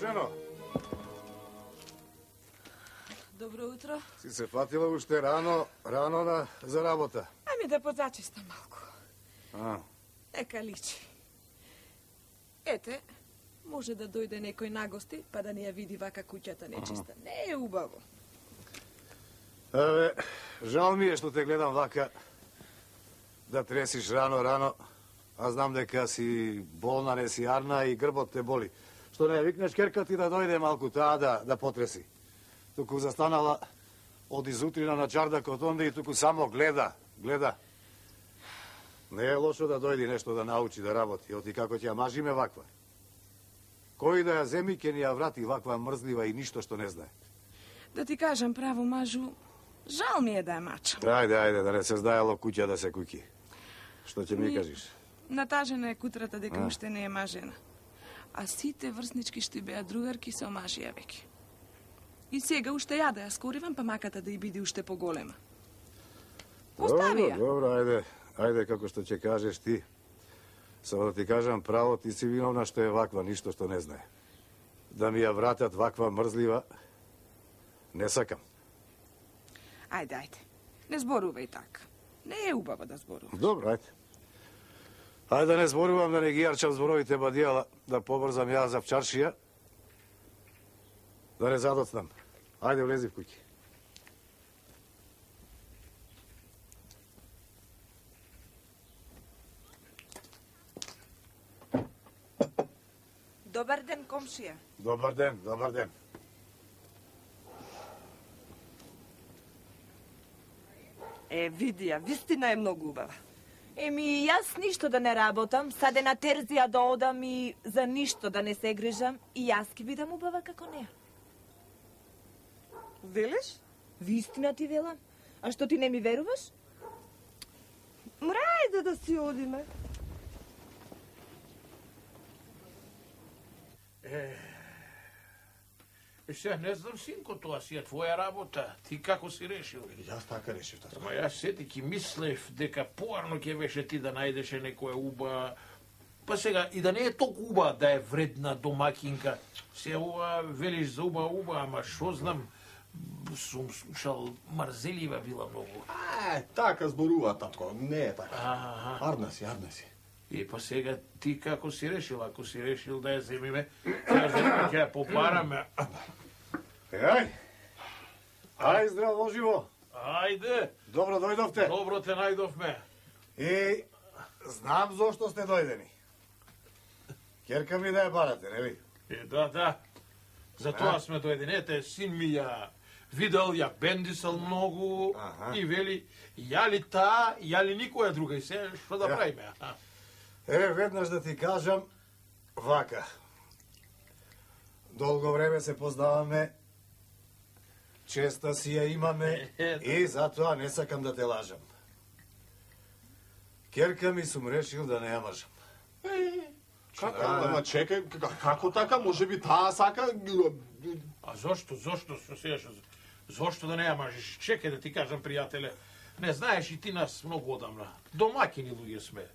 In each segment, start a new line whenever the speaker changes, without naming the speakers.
жено.
Добро утро.
Си се фатила уште рано за работа.
Ами да позачистам малку. Нека личи. Ете, може да дојде некој нагости, па да ни ја види вака куќата нечиста. Не е убаво.
Абе, жал ми е што те гледам вака да тресиш рано, а знам дека си болна, не си арна и грбот те боли. Што не викнеш керка ти да дојде малку таа да потреси. Туку застанала од изутрина на чардакот онде и туку само гледа. Не е лошо да дојди нешто да научи да работи, оти како ќе ја мажиме ваква. Кој да ја земи ќе ни ја врати ваква мрзлива и ништо што не знае.
Да ти кажам право, мажу, жал ми е да ја мачам.
Ајде, да не се здајало куќа да се куки. Што ќе ми кажеш?
Натажена е кутрата дека уште не е мажена. А сите врснички што беа другарки се омажија веќе. И сега уште ја да ја скоривам, па маката да ја биде уште поголема. Остави ја.
Добро, ајде како што ќе кажеш ти. Само да ти кажам право, ти си виновна што е ваква, ништо што не знае. Да ми ја вратат ваква мрзлива, не сакам.
Ајде. Не зборувај така. Не е убаво да зборуваш.
Добро, ајде. Ајде да не зборувам, да не ги јарчам зборовите бадијала, да побрзам ја за вчаршија, да не задоцнам. Ајде, влези в куќи.
Добар ден, комшија.
Добар ден.
Види ја, вистина е многу убава.
Еми, јас ништо да не работам, саде на терзија да одам и за ништо да не се грижам, и јас ки бидам убава како неа.
Велиш?
Вистина ти велам. А што ти не ми веруваш?
Мрајде да си одиме.
Сега не знам, синко, тоа си е твоја работа. Ти како си решил?
Јас така решив, тато.
Ама јас сетики мислев дека поарно ќе беше ти да најдеше некоја уба. Па сега, и да не е толку уба да е вредна домакинка. Се ова велиш за уба, ама шо знам, сум слушал, мрзелива била многу.
Така зборува, татко, не е така. Арна си.
И па сега ти како си решил? Ако си решил да ја земиме, ќе ја попараме.
Ај, здраво живо.
Ајде.
Добро дојдовте.
Добро те најдовме.
И знам зошто сте дојдени. Керка ми да ја барате, нели?
Да. Затоа сме дојдени. Ете, син ми ја видел, ја бендисал многу и вели, јали таа, јали никоја друга. И се, што да правиме?
Веднаш да ти кажам, вака. Долго време се познаваме, честа си ја имаме и затоа не сакам да те лажам. Керка ми сум решил да не ја мажам.
Ама чекај, како така? Може би таа сака...
А зошто? Зошто да не ја мажиш? Чекај да ти кажам, пријателе, не знаеш и ти нас многу одамна. Домакини луѓе сме.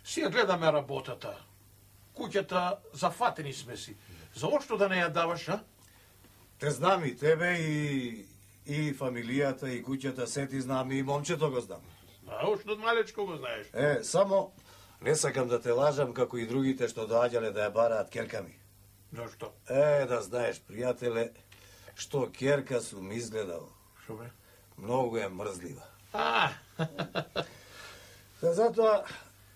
Си ја гледаме работата. Куќата зафатени сме си. Зошто да не ја даваш, а?
Те знам и тебе, и фамилијата, и куќата, се ти знам, и момчето го знам.
А уште од малечко го знаеш.
Само не сакам да те лажам како и другите што доаѓале да ја бараат керка ми.
Зошто?
Да знаеш, пријателе, што керка сум изгледал.
Шо бе?
Многу е мрзлива. Затоа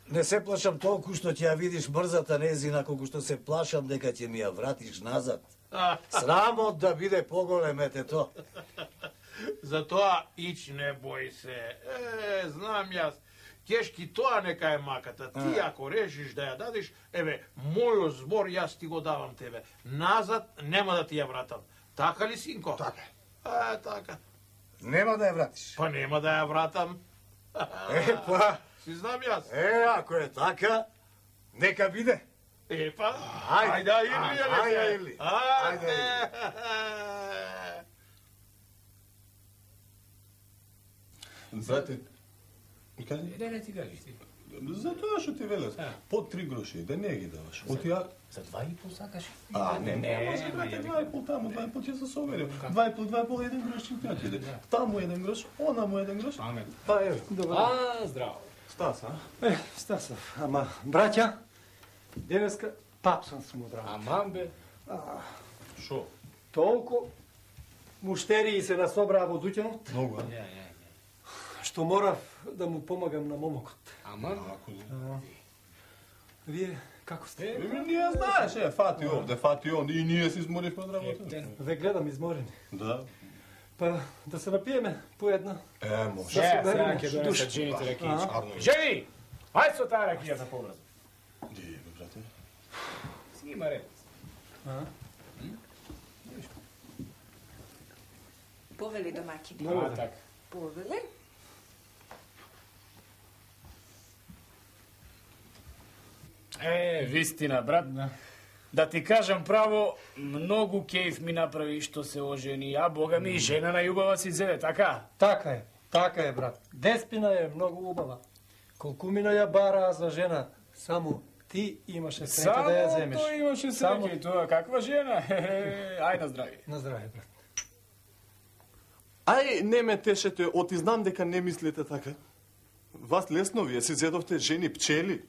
не се плашам толку што ќе ја видиш мрзата незина, колку што се плашам дека ќе ми ја вратиш назад. Срамот да биде поголем, ето.
Затоа ич не бој се. Знам јас. Кешки тоа нека е маката. Ти ако решиш да ја дадеш, мојот збор јас ти го давам тебе. Назад нема да ти ја вратам. Така ли, синко?
Така.
Така.
Нема да ја вратиш?
Па нема да ја вратам. Си знам јас.
Ако е така, нека биде.
Ајде, Ирли.
Брате,
Не ти кажеш ти.
За тоа што ти велев, по 3 гроши, да не ги даваш. Отија...
За 2,5 сакаш?
Не, може, брате, 2,5 таму, 2,5 ќе се соверим. 2,5, 1 грош ќе ти отиде. Таму 1 грош, онаму 1 грош.
Па ево, добро.
Здраво.
Стас,
Стасов, ама, браќа, денеска тапсан сум одраво.
Аман бе. Шо?
Толку муштерии се насобраа во дуќанот,
Многу,
што морав да му помагам на момокот.
Аман?
Вие како сте?
Ние знаеш, фати овде, фати он, и ние се изморивме од работа.
Ве гледам изморени.
Да.
Па да се напиеме по една.
Може.
Сега ќе донесат жените ракијичка. Жени! Ајде со таа ракијата побрзо.
Ди, брате.
Си има ред.
Повели домакини.
Така.
Повели?
Вистина, брат. Да ти кажам право, многу кејф ми направи што се ожени, а бога ми жена на љубава си зеде, така?
Така е, брат. Деспина е многу убава. Колкумина ја бараа за жена, само ти имаше среќа да ја земеш.
Само тој имаше среќа и тоа, каква жена? Ај на здравје.
На здравје, брат.
Ај, не ме тешете, оти знам дека не мислите така. Вас лесно вие си зедовте жени пчели.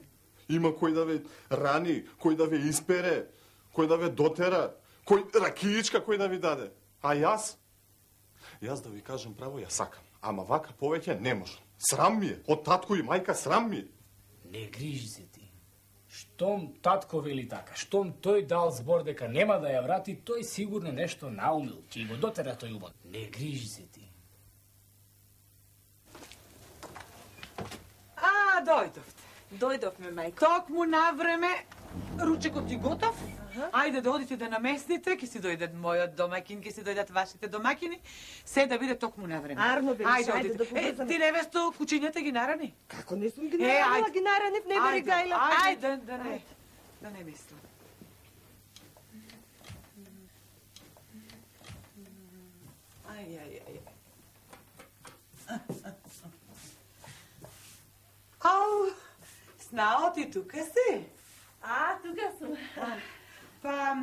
Има кој да ве рани, кој да ве испере, кој да ве дотера, кој ракијичка кој да ви даде. А јас да ви кажам право, ја сакам. Ама вака повеќе не можам. Срам ми е, од татко и мајка срам ми е.
Не грижи се ти. Штом татко вели така, штом тој дал збор дека нема да ја врати, тој сигурно нешто наумил, ќе го дотера тој убот. Не грижи се ти.
Дојдовте.
Дојдовме, мајко.
Токму на време, ручекот ти готов. Ајде да одите да наместите, ќе си дојдат мојот домакин, ќе си дојдат вашите домакини, се да биде токму на време.
Арно бе, ајде да побрзаме.
Ти невесто кучињата ги нарани?
Како не сум ги наранила, ги наранив, не бери гајла.
Ајде, да не мислам. Ау, Снао, ти тука си?
Тука сум.
Па,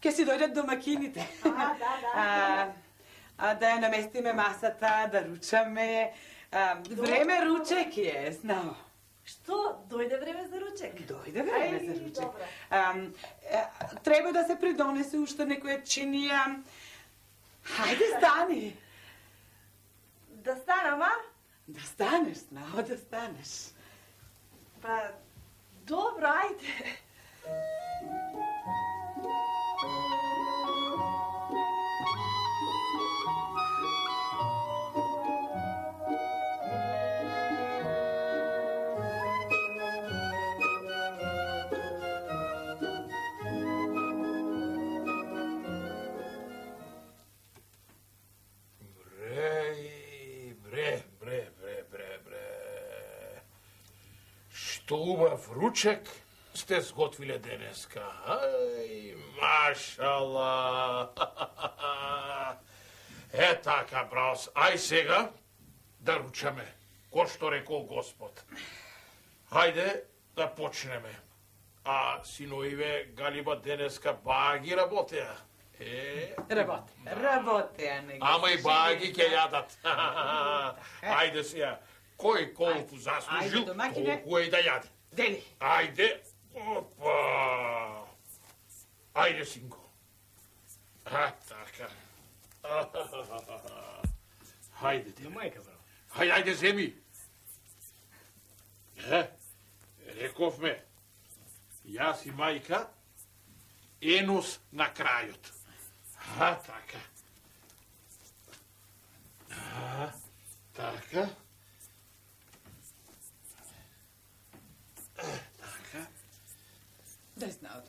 ќе си дојдат домакините.
Да.
Да ја наместиме масата, да ручаме. Време ручек е, Снао.
Што? Дојде време за ручек?
Дојде време за ручек. Треба да се придонесе уште некоја чинија. Хајде, стани.
Да станам, а?
Да станеш, Снао, да станеш.
Па, добро, ајде.
Што убав ручек сте сготвиле денеска. Ај, машала. Така, браус. Ај сега да ручаме, ко што рекол Господ. Хајде да почнеме. А синоиве Галиба денеска баги работеа.
Работеа.
Ама и баги ќе јадат. Ајде сега. Кој колку заслужил, толку е и да јаде.
Дели.
Ајде. Опа. Ајде, синко. Така. Хајде ти.
Мајка, браво.
Хајде, земи. Рековме, јас и мајка, енус на крајот. Така. Така. Така.
Дај Снао.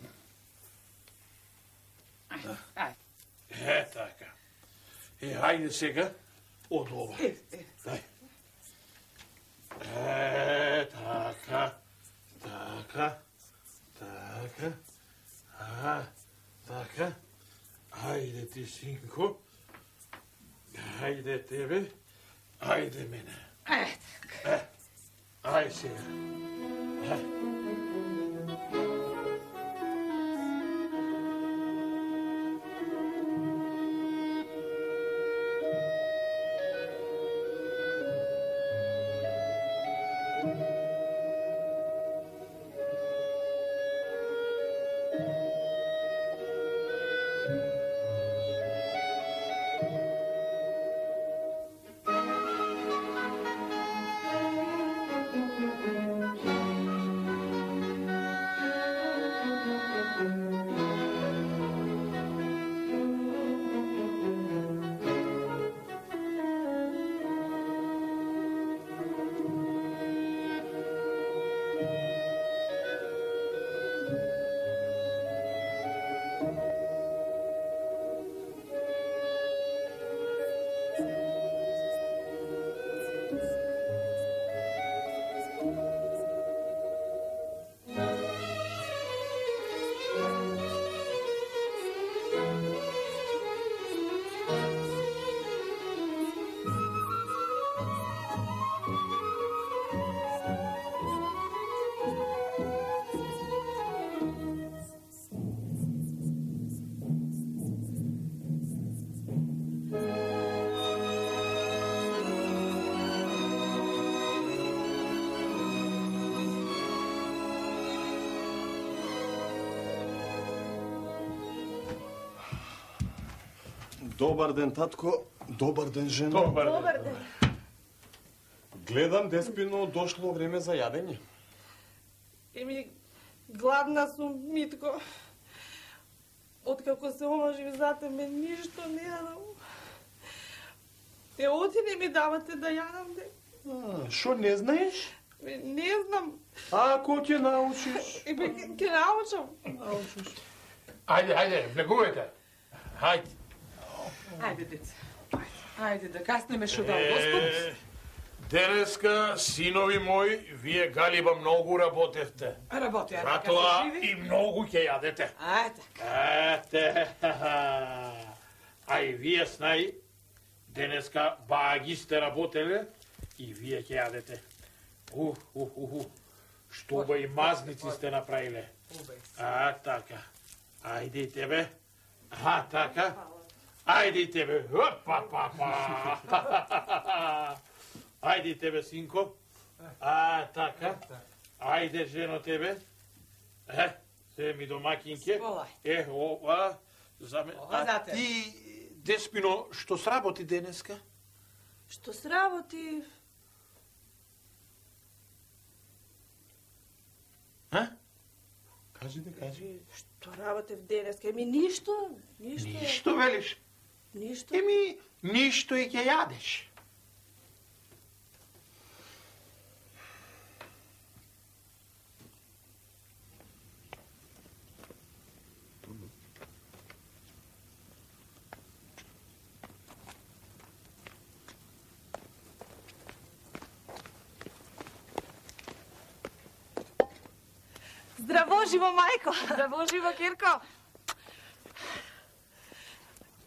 Така. Хајде сега од ова. Дај. Така. Така. Така. Така. Хајде ти, синко. Хајде тебе. Хајде мене. Ај сега.
Добар ден, татко. Добар ден, жена.
Добар ден.
Гледам, Деспино, дошло време за јадење.
Еми, гладна сум, Митко. Откако се омажив за тебе, ништо не јадам. Оти не ми давате да јадам, де.
Шо не знаеш?
Не знам.
Ако ќе научиш.
Ќе научам.
Ајде, влегувајте. Ајде.
Ајде, деца. Ајде, да каснеме шо дал Господ.
Денеска, синови мои, вие галиба многу работевте.
Работи, ајде,
Затоа
живи.
и многу ќе јадете.
Ајде.
А и вие снаи, денеска баги сте работеле и вие ќе јадете. Што ба и мазници сте направиле. Така. Ајде и тебе. Така. Ајде и тебе. Ајде и тебе, синко. Така. Ајде, жено, тебе. Се ми домакинке.
Волај.
За ме.
За те.
Ти, Деспино, што сработи денеска?
Што сработи?
Кажи.
Што работев денеска? Еми, ништо.
Ништо велиш?
Ништо.
Еми, ништо и ќе јадеш.
Здраво, живо, мајко.
Здраво, живо, Кирко.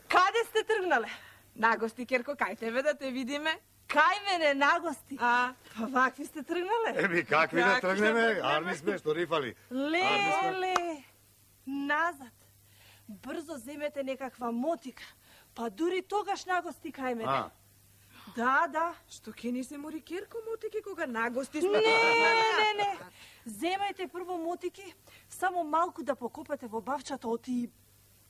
Каде сте тргнале?
Нагости, Кирко, кај тебе да те видиме?
Кај мене нагости? Па вакви сте тргнале?
Еми, какви да тргнеме? Арни сме, што рифали.
Леле, назад. Брзо земете некаква мотика, па дури тогаш нагости кај мене. Да.
Што ке ни се мори Кирко мотики кога нагости сме?
Не. Земајте прво мотики, само малку да покопате во бавчата оти.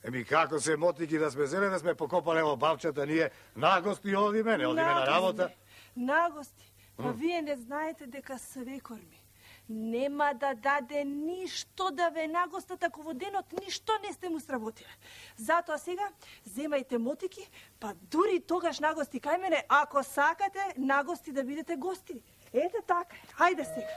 Еми, како се мотики да сме зеле, да сме покопале во бавчата, ние нагости одиме, не одиме на работа.
Нагости. Па вие не знаете дека свекор ми нема да даде ништо да ве нагостат ако во денот ништо не сте му сработиле. Затоа сега земајте мотики, па дури тогаш нагости кај мене, ако сакате нагости да бидете гости. Ете така, ајде сега.